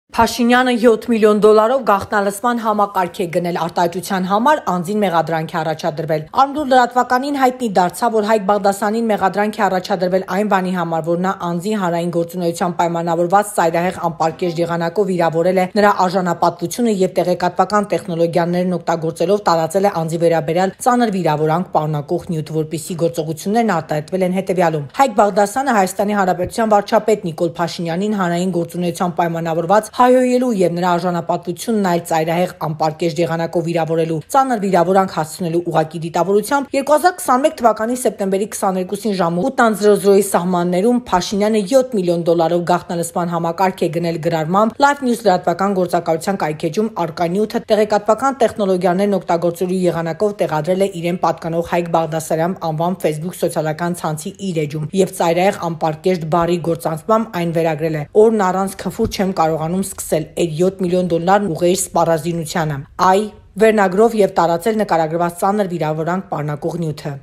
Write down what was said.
Փաշինյանը 7 միլիոն դոլարով գաղտնալսման համակարգ է գնել արտահայտության համար, անձին մեղադրանք է առաջադրվել։ Արմդուր լրատվականին հայտնի դարձավ, որ Հայկ Բաղդասարյանին մեղադրանք է առաջադրվել այն բանի համար, որ նա անձին հանրային գործունեությամբ պայմանավորված ծայրահեղ անպարկեշտ եղանակով վիրավորել է նրա արժանապատվությունը եւ տեղեկատվական տեխնոլոգիաներն օգտագործելով տարածել է անձի վերաբերյալ ծանր վիրավորանք պարունակող նյութ, որպիսի գործողություններն արտահայտվել են հետեւյալում։ Հայկ Բաղդասարյանը Հայաստանի Հանրապետության վարչապետ Նիկոլ Փաշինյանին հանրային գործունեությամբ պայմանավորված հայոյելու եւ նրա արժանապատվությունն այլ ծայրահեղ անպարկեշտ եղանակով վիրավորելու ծանր վիրավորանք հասցնելու ուղղակի դիտավորությամբ 2021 թվականի սեպտեմբերի 22-ին ժամը 8:00-ի սահմաններում Փաշինյանը 7 միլիոն դոլարով գաղտնալսման համակարգ է գնել գրառմամբ Live News լրատվական գործակալության կայքեջում առկա նյութը տեղեկատվական տեխնոլոգիաներն օգտագործելու եղանակով տեղադրել է իրեն պատկանող Հայկ Բաղդասարյան անվան Facebook սոցիալական ցանցի իր էջում եւ ծայրահեղ անպարկեշտ բառի գործանցմամբ այն վերագրել է, օրն առանց քֆուր չեմ կարողանում սկսել այդ 7 միլիոն դոլարն ուղղել սպառազինությանը, վերնագրով եւ տարածել նկարագրված ծանր վիրավորանք պարունակող նյութը։